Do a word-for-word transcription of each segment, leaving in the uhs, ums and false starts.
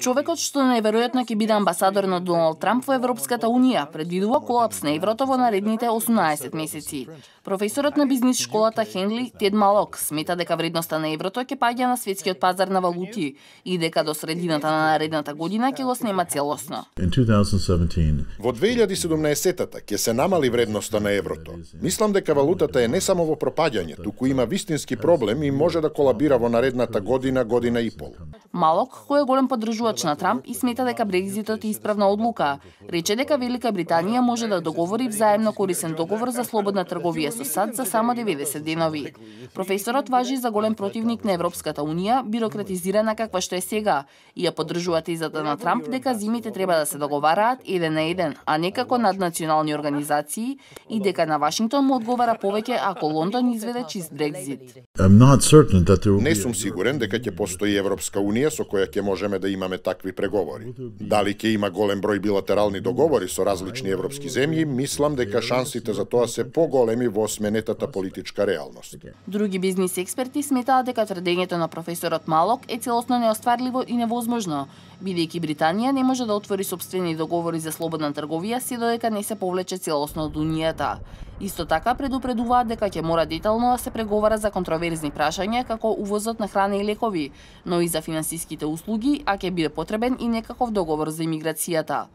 Човекот што најверојатно ќе биде амбасадор на Доналд Трамп во Европската Унија предвидува колапс на еврото во наредните осумнаесет месеци. Професорот на бизнис школата Хенли Тед Малок смета дека вредноста на еврото ќе паѓа на светскиот пазар на валути и дека до средината на наредната година ќе го снема целосно. Во две илјади и седумнаесетта ќе се намали вредноста на еврото. Мислам дека валутата е не само во пропаѓање, туку има вистински проблем и може да колабира во наредната година, година и пол. Малок, кој е голем поддржувач на Трамп и смета дека Брекзитот е исправна одлука, рече дека Велика Британија може да договори взаемно корисен договор за слободна трговија со САД за само деветдесет денови. Професорот важи за голем противник на Европската Унија, бирократизирана каква што е сега, и ја поддржува тезата на Трамп дека земјите треба да се договараат еден на еден, а не како наднационални организации, и дека на Вашингтон му одговара повеќе ако Лондон изведе чист Брекзит. Не сум сигурен дека ќе постои Европска Унија со која ќе можеме да имаме такви преговори. Дали ќе има голем број билатерални договори со различни европски земји, мислам дека шансите за тоа се поголеми во сменетата политичка реалност. Други бизнис експерти сметаат дека тврдењето на професорот Малок е целосно неостварливо и невозможно, бидејќи Британија не може да отвори сопствени договори за слободна трговија се додека не се повлече целосно од Унијата. Исто така предупредуваат дека ќе мора детално да се преговара за контроверзни прашања како увозот на храна и лекови, но и за финансиските услуги, а ќе биде потребен и некаков договор за имиграцијата.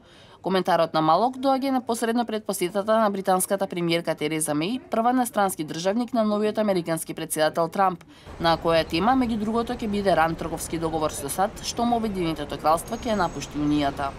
Коментарот на Малок доаѓа непосредно пред посетата на британската премиерка Тереза Меј, прва настрански државник на новиот американски претседател Трамп, на која тема меѓу другото ќе биде ран трговски договор со САД, што му Обединетото кралство ќе напушти Унијата.